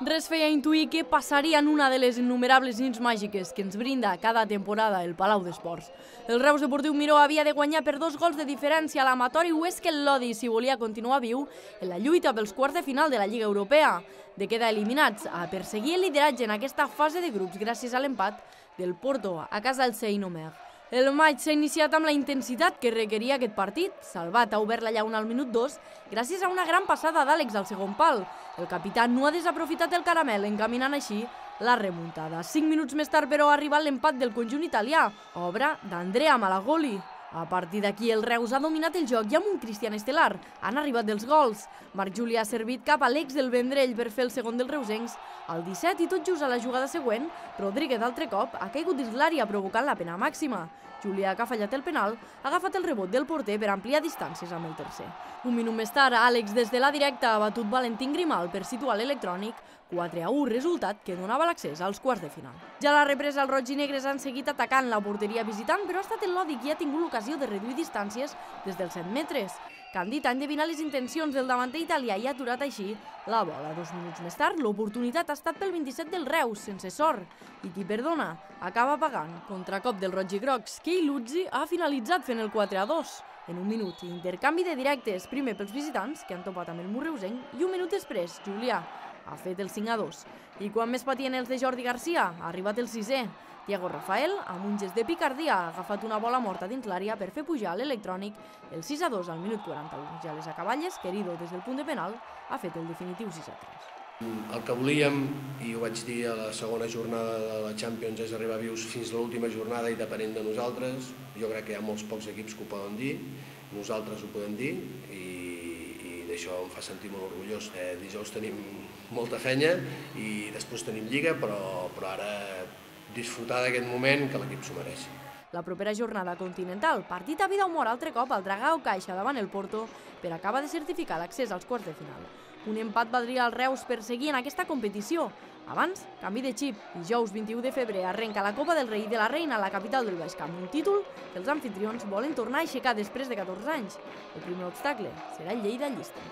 Res feia intuir què passaria en una de les innumerables nits màgiques que ens brinda cada temporada el Palau d'Esports. El Reus Deportiu Miró havia de guanyar per 2 gols de diferència a l'Amatori Huesca el Lodi si volia continuar viu en la lluita pels quarts de final de la Lliga Europea. De quedar eliminats a perseguir el lideratge en aquesta fase de grups gràcies a l'empat del Porto a casa del Saint-Omer. El maig s'ha iniciat amb la intensitat que requeria aquest partit. Salvat ha obert la llauna al minut 2 gràcies a una gran passada d'Àlex al segon pal. El capità no ha desaprofitat el caramel, encaminant així la remuntada. 5 minuts més tard, però, ha arribat l'empat del conjunt italià, obra d'Andrea Malagoli. A partir d'aquí, el Reus ha dominat el joc i amb un Cristian estel·lar han arribat els gols. Marc Juli ha servit cap a l'ex del Vendrell per fer el segon dels reusencs al 17 i tot just a la jugada següent, Rodríguez altre cop ha caigut dins l'àrea provocant la pena màxima. Julià, que ha fallat el penal, ha agafat el rebot del porter per ampliar distàncies amb el tercer. Un minut més tard, Àlex des de la directa ha batut Valentín Grimal per situar l'electrònic 4-1, resultat que donava l'accés als quarts de final. Ja a la represa, els roig i negres han seguit atacant la porteria visitant, però ha estat el Lodi qui ha tingut l'ocasió de reduir distàncies des dels 7 metres. Candit ha endevinat les intencions del davanter italià i ha aturat així la bola. 2 minuts més tard, l'oportunitat ha estat pel 27 del Reus, sense sort. I qui perdona acaba pagant. Contracop del roig i grocs, Kei Luzzi ha finalitzat fent el 4-2. En un minut, intercanvi de directes, primer pels visitants, que han topat amb el mur reusenc, i un minut després, Julià ha fet el 5-2. I quan més patien els de Jordi Garcia, ha arribat el 6è. Thiago Rafael, amb un gest de picardia, ha agafat una bola morta dins l'àrea per fer pujar l'electrònic el 6-2 al minut 41. Ja a les acaballes, Querido, des del punt de penal, ha fet el definitiu 6-3. El que volíem, i ho vaig dir a la segona jornada de la Champions, és arribar vius fins a l'última jornada i depenent de nosaltres. Jo crec que hi ha molts pocs equips que ho poden dir, nosaltres ho podem dir i d'això em fa sentir molt orgullós. Dijous tenim molta feina i després tenim Lliga, però ara disfrutar d'aquest moment que l'equip s'ho mereixi. La propera jornada continental, partit a vida o mort altre cop al Dragao Caixa davant el Porto per acabar de certificar l'accés als quarts de final. Un empat valdria al Reus per seguir en aquesta competició. Abans, canvi de xip. Dijous 21 de febrer arrenca la Copa del Rei de la Reina a la capital del Baix Camp, un títol que els amfitrions volen tornar a aixecar després de 14 anys. El primer obstacle serà el Lleida Llista.